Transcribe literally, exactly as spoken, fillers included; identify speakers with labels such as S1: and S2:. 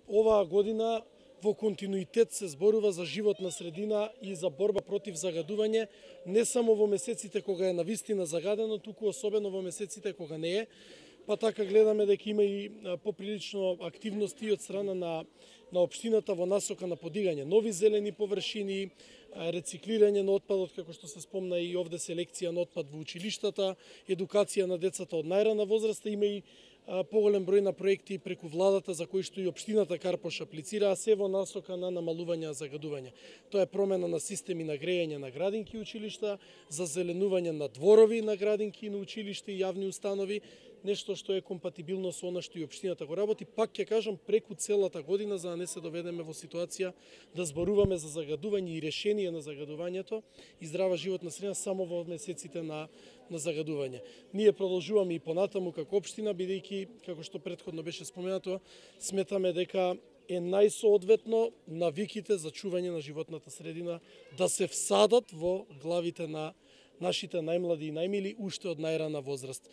S1: оваа година во континуитет се зборува за животна средина и за борба против загадување, не само во месеците кога е навистина загадено, туку особено во месеците кога не е. Па така гледаме дека има и поприлично активности од страна на, на општината во насока на подигање нови зелени површини, рециклирање на отпадот, како што се спомна и овде селекција на отпад во училиштата, едукација на децата од најрана возраста, има и поголем број на проекти преку владата за кои што и општината Карпош аплицира, а се во насока на намалување загадување. Тоа е промена на системи на грејење на градинки и училишта, за зеленување на дворови на градинки, на училишта и јавни установи, нешто што е компатибилно со она што и општината го работи, пак ќе кажам преку целата година, за да не се доведеме во ситуација да зборуваме за загадување и решение на загадувањето и здрава животна средина само во месеците на на загадување. Ние продолжуваме и понатаму како општина, бидејќи, како што претходно беше споменато, сметаме дека е најсоодветно навиките за чување на животната средина да се всадат во главите на нашите најмлади и најмили уште од најрана возраст.